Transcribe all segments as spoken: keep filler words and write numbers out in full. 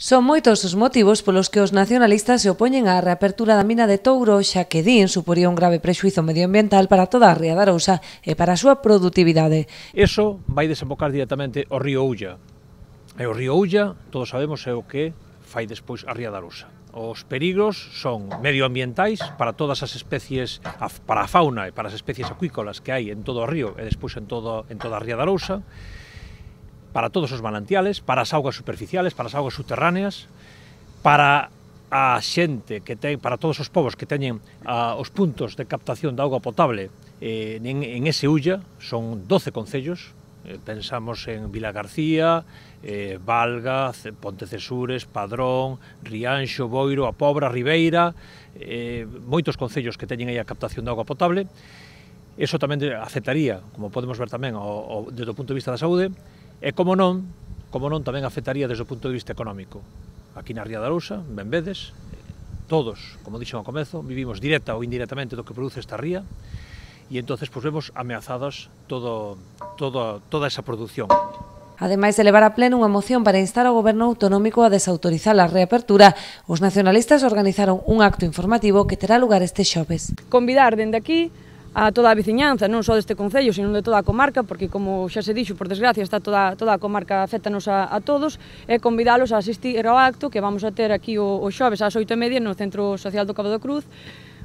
Son moitos os motivos polos que os nacionalistas se opoñen á reapertura da mina de Touro, xa que din suporía un grave prexuízo medioambiental para toda a ría de Arousa e para a súa produtividade. Eso vai desembocar directamente ao río Ulla. E o río Ulla, todos sabemos, é o que fai despois a ría de Arousa. Os perigros son medioambientais para todas as especies, para a fauna e para as especies acuícolas que hai en todo o río e despois en, todo, en toda a ría de Arousa, para todos os manantiales, para as augas superficiales, para as augas subterráneas, para a xente que ten, para todos os povos que teñen a, os puntos de captación de auga potable eh, en, en ese Ulla, son doce concellos, eh, pensamos en Vilagarcía, eh, Valga, Pontecesures, Padrón, Rianxo, Boiro, A Pobra, Ribeira, eh, moitos concellos que teñen aí a captación de auga potable. Eso tamén afectaría, como podemos ver tamén, o, o, desde o punto de vista da saúde. E como non, como non tamén afectaría desde o punto de vista económico. Aquí na ría de Arousa, ben vedes, todos, como dixo ao comezo, vivimos directa ou indirectamente do que produce esta ría e entonces pues, vemos ameazadas todo, todo, toda esa produción. Ademais de levar a pleno unha moción para instar ao goberno autonómico a desautorizar a reapertura, os nacionalistas organizaron un acto informativo que terá lugar este xoves. Convidar dende aquí a toda a veciñanza, non só deste concello, sino de toda a comarca, porque como xa se dixo, por desgracia, está toda, toda a comarca afectanos a, a todos, e convidalos a asistir ao acto que vamos a ter aquí o, o xoves ás oito e media no Centro Social do Cabo da Cruz,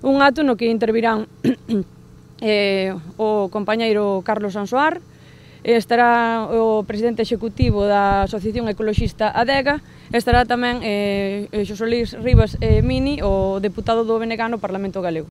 un acto no que intervirán eh, o compañeiro Carlos Sansoar, estará o presidente executivo da Asociación Ecoloxista Adega, estará tamén eh, Xosé Luís Rivas eh, Mini, o deputado do B N G no Parlamento Galego.